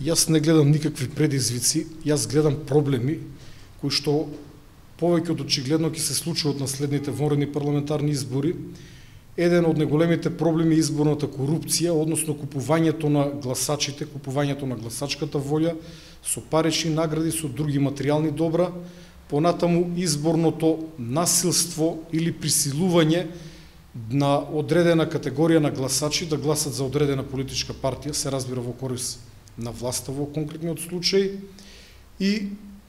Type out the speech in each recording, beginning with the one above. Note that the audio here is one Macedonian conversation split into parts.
Јас не гледам никакви предизвици, јас гледам проблеми кои што повеќе од очигледно ќе се случуваат на следните вонредни парламентарни избори. Еден од најголемите проблеми е изборната корупција, односно купувањето на гласачите, купувањето на гласачката волја со парични награди, со други материјални добра, понатаму изборното насилство или присилување на одредена категорија на гласачи да гласат за одредена политичка партија, се разбира во корист на власта во конкретниот случај, и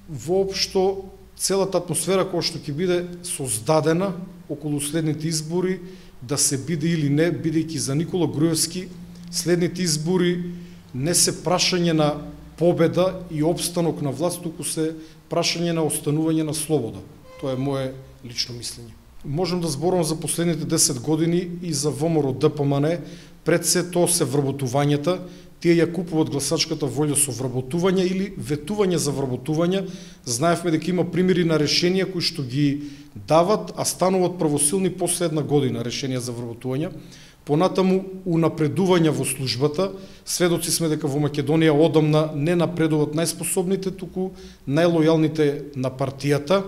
воопшто целата атмосфера која што ќе биде создадена околу следните избори, да се биде или не, бидејќи за Никола Груевски следните избори не се прашање на победа и опстанок на власт, туку се прашање на останување на слобода. Тоа е мое лично мислење. Можам да зборам за последните 10 години и за ВМРО ДПМН, пред се тоа се вработувањата, тие ја купуваат гласачката волја со вработување или ветување за вработување. Знаевме дека има примери на решенија кои што ги дават, а стануваат правосилни после една година решенија за вработување. Понатаму унапредување во службата. Сведоци сме дека во Македонија одамна не напредуваат најспособните, туку најлојалните на партијата.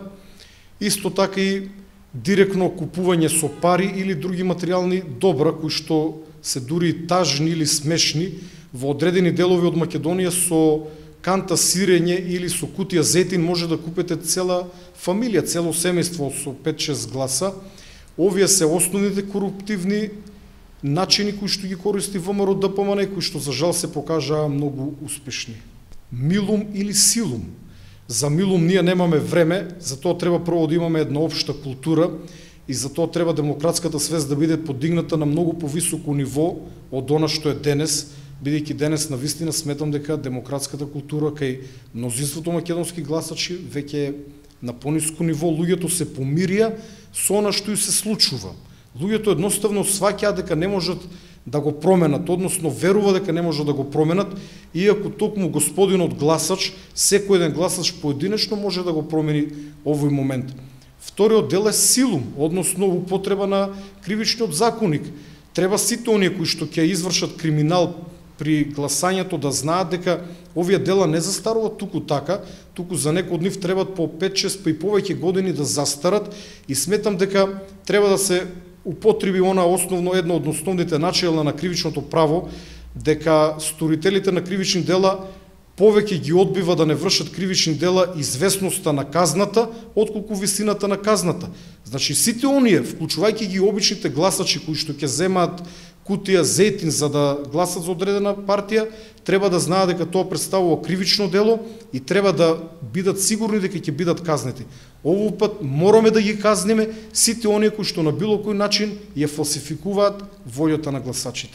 Исто така и директно купување со пари или други материјални добра кои што се дури тажни или смешни. Во одредени делови од Македонија со канта сирење или со кутија зетин може да купите цела фамилија, цело семејство со 5-6 гласа. Овие се основните коруптивни начини кои што ги користи ВМРО ДПМН, кои што за жал се покажаа многу успешни. Милум или силум. За милум ние немаме време, затоа треба прво да имаме една општа култура и затоа треба демократската свест да биде подигната на многу повисоко ниво од она што е денес, бидејќи денес навистина сметам дека демократската култура кај мнозинството македонски гласачи веќе е на пониско ниво, луѓето се помирија со она што и се случува. Луѓето едноставно сваќаат дека не можат да го променат, односно верува дека не можат да го променат, иако токму господинот гласач, секој еден гласач поединечно може да го промени овој момент. Вториот дел е силум, односно употреба на кривичниот законник. Треба сите оние кои што ќе извршат криминал при гласањето да знаат дека овие дела не застаруваат туку така, туку за некој од нив требат по 5-6 па и повеќе години да застарат, и сметам дека треба да се употреби она основно, едно од основните начела на кривичното право, дека сторителите на кривични дела повеќе ги одбива да не вршат кривични дела известноста на казната, отколку висината на казната. Значи сите оние, вклучувајќи ги обичните гласачи кои што ќе земаат кутија зетин за да гласат за одредена партија, треба да знаат дека тоа представува кривично дело и треба да бидат сигурни дека ќе бидат казнети. Овој пат мораме да ги казниме сите оние кои што на било кој начин ја фалсификуваат волјата на гласачите.